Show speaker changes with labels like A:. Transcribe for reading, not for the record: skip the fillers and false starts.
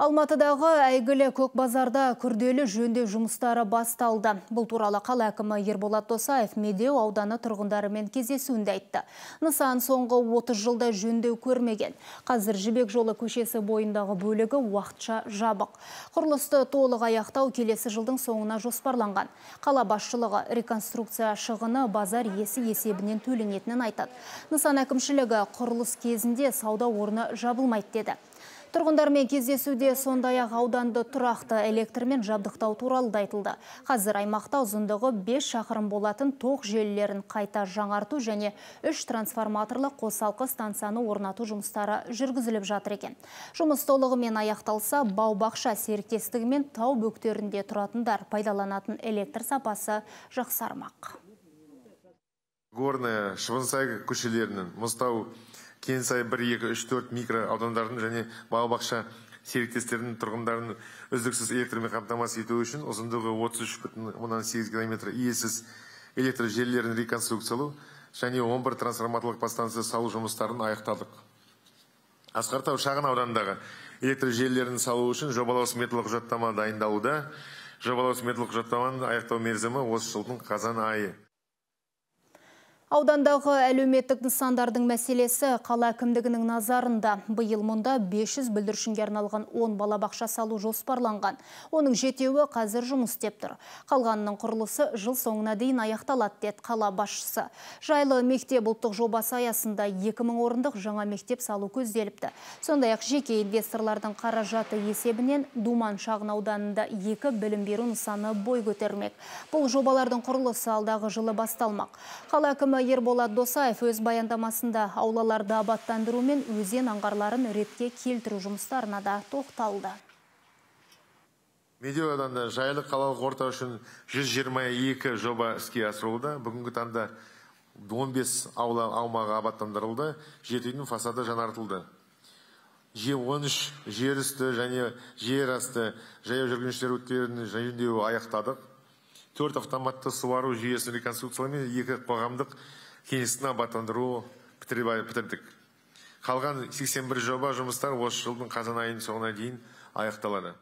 A: Алматыдағы әйгілі Көкбазарда күрделі жөндеу жұмыстары басталды. Бұл туралы қала әкімі Ерболат Досаев Медеу ауданы тұрғындарымен кездесуінде айтты. Нысан соңғы 30 жылда жөндеу көрмеген. Қазір Жібек жолы көшесі бойындағы бөлігі уақытша жабық. Құрылысты толық аяқтау келесі жылдың соңына жоспарланған. Қала басшылығы реконструкция шығыны базар иесі есебінен төленетінін айтады. Нысан әкімшілігі құрылыс кезінде сауда орны жабылмайды деді. Тұрғындармен кездесуде сондай-ақ ауданды тұрақты электрмен жабдықтау туралы да айтылды. Қазір аймақта ұзындығы 5 шақырым болатын тоқ желілерін қайта жаңарту және 3 трансформаторлы қосалқы станцияны орнату жұмыстары жүргізіліп жатыр екен. Жұмыс толығымен аяқталса, бау-бақша серіктестігімен тау бөктерінде тұратындар пайдаланатын электр сапасы жақсармақ.
B: Горная, Шыбынсай көшелерінің, Мұзтау, Кенсай 1, 2, 3, 4 микро аудандардың және бау-бақша серіктестерінің тұрғындарын үздіксіз электрмен қамтамасыз ету үшін ұзындығы 33,8 км иесіз электр желілерін реконструкциялау және 11 трансформаторлық подстанция салу жұмыстарын аяқтадық. Асқар Тау шағын ауданындағы электр желілерін салу үшін жобалау сметалық құжаттама дайындалуда. Жобалау сметалық құжаттаманың аяқтау мерзімі осы жылдың қазан айы.
A: Аудандағы әлеуметтік нысандардың мәселесі қала әкімдігінің назарында. Биыл мұнда 500 бүлдіршінге арналған 10 балабақша салу жоспарланған. Оның жетеуі қазір жұмыс істеп тұр. Қалғанының құрылысы жыл соңына дейін аяқталады деді қала басшысы. Жайлы мектеп ұлттық жобасы аясында 2000 орындық жаңа мектеп салу көзделіпті. Сондай-ақ жеке инвесторлардың қаражаты есебінен Думан шағын ауданында 2 білім беру нысаны бой көтермек. Бұл жобалардың құрылысы алдағы жылы басталмақ. Қала әкімі Ерболат Досаев өз баяндамасында аулаларды абаттандыру мен өзен аңғарларын ретке келтіру жұмыстарына да тоқталды.
B: Медеу ауданында жайлы қалалық орта үшін 122 жоба іске асырылуда. Бүгінгі таңда 15 аула аумағы абаттандырылды, 7 үйдің фасады жаңартылды. 13 жер үсті және жер асты жаяу жүргіншілер өткелдерінің жөндеуі аяқтадық. 4 автоматты суару жүйесін реконструкциялау мен 2 қоғамдық кеңістікті абаттандыру бітірдік. Қалған 81 жоба жұмыстар осы жылдың қазан айының соңына дейін аяқталады.